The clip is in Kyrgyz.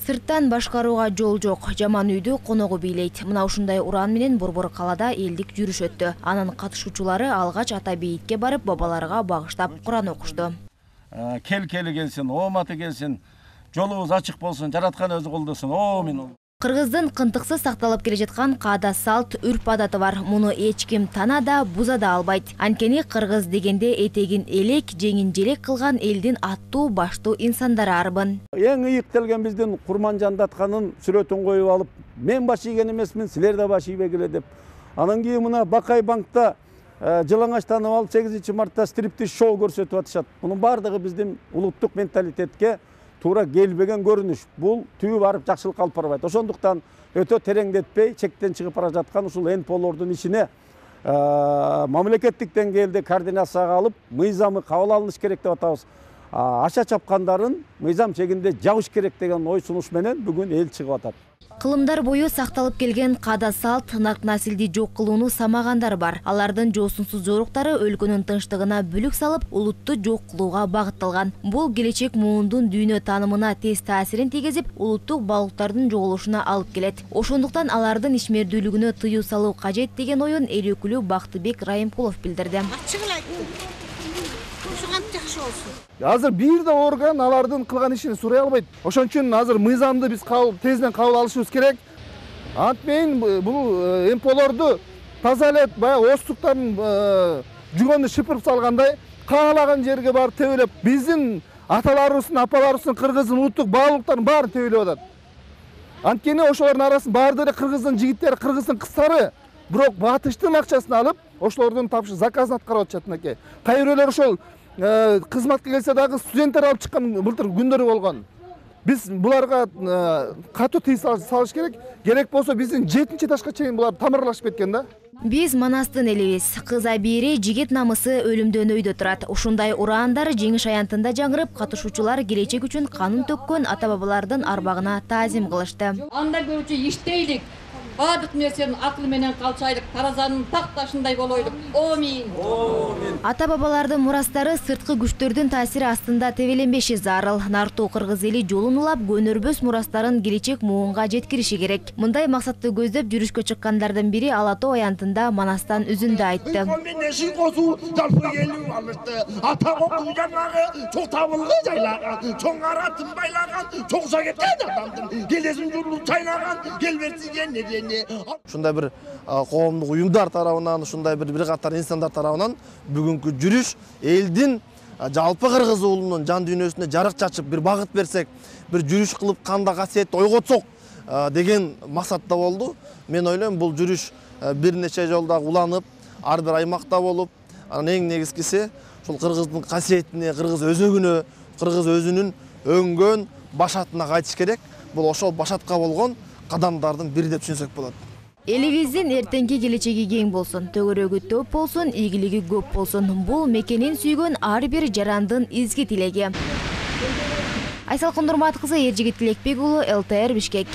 Сырттан башкарууга жол жок, жаман үйдү коногу бийлейт. Мына ушундай уран менен Борбор калаада элдик жүрүш өттү. Анын катышуучулары алгач ата бейитке барып, бабаларга багыштап Куран окушту. Келкели келсин, ооматы келсин, жолубуз ачык болсун, жараткан өзү колдосун. Амин. Кыргыздын кынтыксыз сакталып келе жаткан каада салт, үрп адаты бар. Муну эч ким тана да, буза да албайт. Анткени кыргыз дегенде этегин элек, жеңин желек кылган элдин аттуу, баштуу инсандары арбын. Эң ийиктелген биздин Курманжан Датканын сүрөтүн коюп алып, мен баш ийген эмесмин, силер да баш ийбегиле деп. Анан кийин мына Бакай банкта жылаңачтанып алып 8 мартта стриптиз шоу көрсөтүп атышат. Мунун бардыгы биздин улуттук менталитетке туура келбеген көрүнүш. Бул түбү барып жакшылыкка алып барбайт. Ошондуктан өтө тереңдетпей, чектен чыгып бара жаткан ушул НПОлордун ишине мамлекеттик деңгээлде координацияга алып, мыйзамы кабыл алыныш керек деп атабыз. Аша чапкандарын мыйзам чегинде жабыш керек деген ой сунуш менен бүгүн эл чыгып атат. Кылымдар бою сакталып келген каада салт, нарк насилди жок кылууну самагандар бар. Алардын жоосунсуз жоруктары өлкөнүн тынчтыгына бүлүк салып, улутту жок кылууга багытталган. Бул келечек муундун дүйнө таанымына тез таасирин тийгизип, улуттук баалуулуктардын жоголушуна алып келет. Ошондуктан алардын ишмердүүлүгүнө тыюу салуу кажет деген оюн эл өкүлү Бактыбек Райымкулов билдирди. Азыр бир да орган алардын кылган ишин сурай албайт. Ошон үчүн азыр мыйзамды биз тезден кабыл алышыбыз керек. Антмен бул МПОлорду таза эле баягы оостуктарын жүгөнү шыпырып салгандай, каалаган жерге барып тебелеп, биздин аталарыбыздын, апаларыбыздын, кыргыздын улуттук баалуулуктарын баарын тебелеп атат. Анткени ошолордун арасында баардыгы эле кыргыздын жигиттери, кыргыздын кыздары, бирок батыштын акчасын алып, ошолордун заказын аткарып атышат мынакей. Кай бирөөлөр ошол кызматка келсе дагы студенттер алып чыккан былтыр күндөрү болгон. Биз буларга катуу тыйым салыш керек. Керек болсо биздин 7-ташка чейин булар тамырлашып кеткен да. Биз Манастын элибиз. Кыз абийири, жигит намысы өлүмдөн өйдө турат. Ушундай ураандар жеңиш аянтында жаңырып, катышуучулар келечек үчүн канын төккөн ата-бабалардын арбагына таазим кылышты. Анда көрчү иштейлик. Бардык нерсени акыл менен калчайлык, таразанын так ташындай болойлук. Амин. Ата-бабалардын мурастары сырткы күчтөрдүн таасири астында тебеленбеши зарыл. Нартуу кыргыз эли жолун улап, көнөрбөс мурастарын келечек муунга жеткириши керек. Мындай максатты көздөп жүрүшкө чыккандардын бири Ала Тоо аянтында Манастан үзүндө айтты. Ушундай бир коомдук уюмдар тарабынан, ушундай бир катар инсандар тарабынан бүгүнкү жүрүш элдин жалпы кыргыз уулунун жан дүйнөсүнө жарык чачып, бир багыт берсек, бир жүрүш кылып кандай касиетти ойготсок деген максатта болду. Мен ойлойм, бул жүрүш бир нече жолда уланып, ар бир аймакта болуп, анан эң негизгиси ушул кыргыздын касиетине, кыргыз өзөгүнө, кыргыз өзүнүн өңгөн башатына кайтыш керек. Бул ошол башатка болгон кадамдардын бири деп түшүнсөк болот. Элибиздин эртеңки келечеги кең болсун, төгөрөгү төп болсун, ийгилиги көп болсун. Бул мекенин сүйгөн ар бир жарандын изги тилеги. Айсалкын Нурмат кызы, Эржигит Тилекбек уулу, ЛТР Бишкек.